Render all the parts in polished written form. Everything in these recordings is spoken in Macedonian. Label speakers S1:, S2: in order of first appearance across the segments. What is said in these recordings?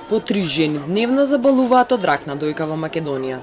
S1: По 3 жени дневно заболуваат од рак на дојка во Македонија.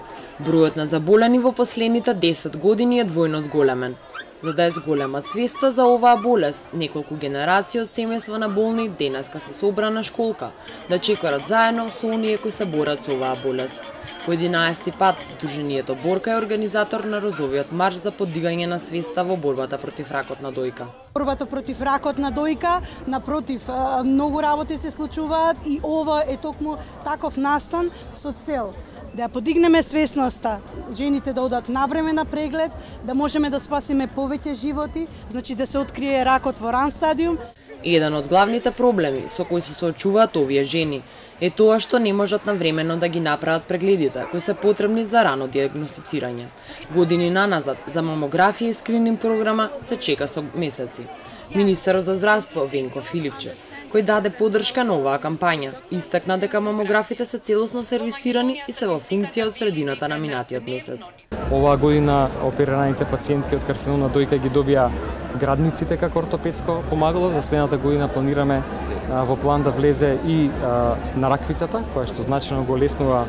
S1: Бројот на заболени во последните 10 години е двојно зголемен. За да е зголема свеста за оваа болест, неколку генерации од семејства на болни денеска се собра на школка да чекорат заедно со оние кои се борат со оваа болест. По 11-ти пат, Сдруженијето Борка е организатор на Розовиот марш за подигање на свеста во борбата против ракот на дојка.
S2: Борбата против ракот на дојка, напротив, многу работи се случуваат и ова е токму таков настан со цел да подигнеме свесноста, жените да одат навреме на преглед, да можеме да спасиме повеќе животи, значи да се открие ракот во ран стадиум.
S1: Еден од главните проблеми со кои се соочуваат овие жени е тоа што не можат навремено да ги направат прегледите кои се потребни за рано диагностицирање. Години наназад за мамографија и скрининг програма се чека со месеци. Министерот за здравство Венко Филипчев, кој даде поддршка на оваа кампања, истакна дека мамографите се целосно сервисирани и се во функција од средината на минатиот месец.
S3: Оваа година оперираните пациентки од карцином на дојка ги добија градниците како ортопедско помагало. За следната година планираме во план да влезе и нараквицата, која што значено го леснува,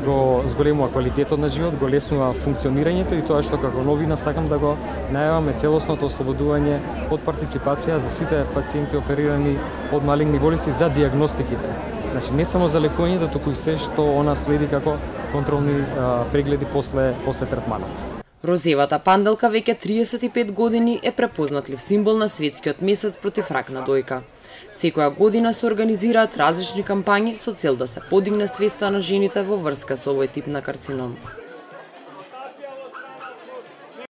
S3: го зголемува квалитетот на живот, го леснува функционирањето и тоа што како новина сакам да го најаваме целосното ослободување од партиципација за сите пациенти оперирани од малигни болести за диагностиките. Значи не само за лекувањето, туку и се што она следи како контролни прегледи после третманот.
S1: Розевата панделка веќе 35 години е препознатлив символ на светскиот месец против рак на дојка. Секоја година се организираат различни кампањи со цел да се подигне свеста на жените во врска со овој тип на карцином.